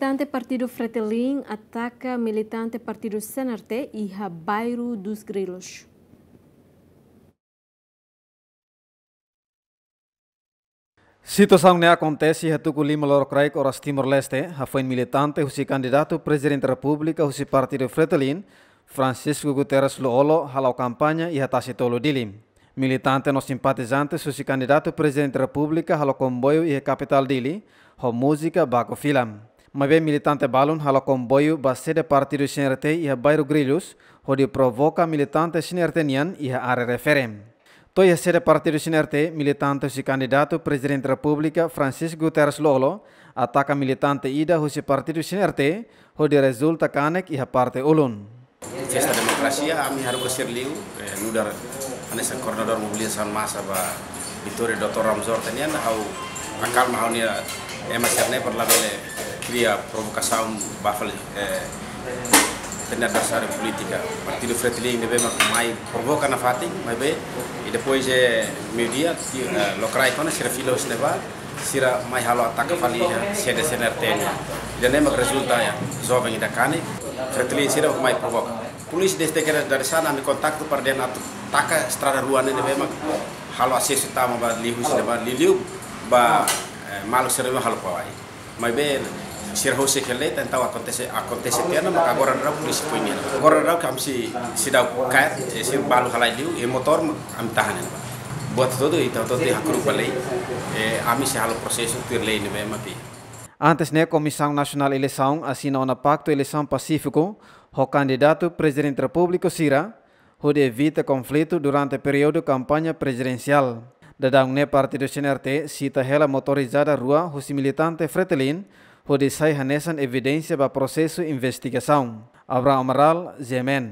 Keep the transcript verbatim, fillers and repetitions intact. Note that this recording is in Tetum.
Militante Partidu Fretilin ataka militante Partidu C N R T iha Bairro dos Grilos. Situasaun ne'e akontese iha tuku lima lorokraik oras Timor-Leste, hafoin militante husi kandidatu Prezidente Repúblika husi Partidu Fretilin, Francisco Guterres Lú-Olo, hala'o kampaña iha Tasi Tolu, Dili. Militante no simpatizante husi kandidatu Prezidente Repúblika halo komboiu iha kapitál Dili, ho múzika baku filam. Maibé militante balun halo komboiu ba sede partidu C N R T iha Bairro Grilos, hodi provoka militante C N R T nian iha área refere. To'o iha sede partidu C N R T, militante husi kandidatu Prezidente Repúblika Francisco Guterres Lú-Olo ataka militante ida husi partidu C N R T, hodi rezulta kanek iha parte ulun. Festa Demokrasia, ami haruka sira liu, eh, nu'udar hanesan koordenadór mobilizasaun masa ba Vitória, doutór Ramos Horta nian, ha'u akalma ha'u-nia ema sira-ne'e para labele kria provokasaun ba fali, eh, ita-nia adversáriu polítika. Partidu Fretilin ne'ebé mak mai provoka nafatin, maibé, i depois, eh, meiudia, ti-, eh, lokraik ona sira fila husi ne'ebá, sira mai halo ataka fali iha sede C N R T nian. Ida-ne'e mak rezulta iha joven ida kanek, Fretilin sira mai provoka. Polísia desde ke dari sana ami kontaktu para dehan atu taka estrada rua ne'e ne'ebé mak halo asesu tama ba liuhusi ne'ebá, liuliu ba, eh, maluk sira ne'ebé halo pawai. Maibé sira husik hela, entaun akontese, akontese tiha ona, maka agora daudaun polísia foin nian. Agora daudaun ami sei, seidauk kaer, eh, sira balu halai liu, i motór ami tahan ona. Buat hotu-hotu, ita hotu-hotu hakru'uk ba lei, eh, ami sei halo prosesu tuir lei ne'ebé mak iha. Antes ne'e, Komisaun Nasionál Eleisaun asina ona paktu eleisaun pasífiku ho kandidatu Prezidente Repúblika sira, hodi evita konflitu durante períodu kampaña prezidensiál. Daudaun ne'e partidu C N R T sita hela motorizada rua husi militante Fretilin, hodi sai hanesan evidénsia ba prosesu investigasaun. Abraham Amaral, G M N.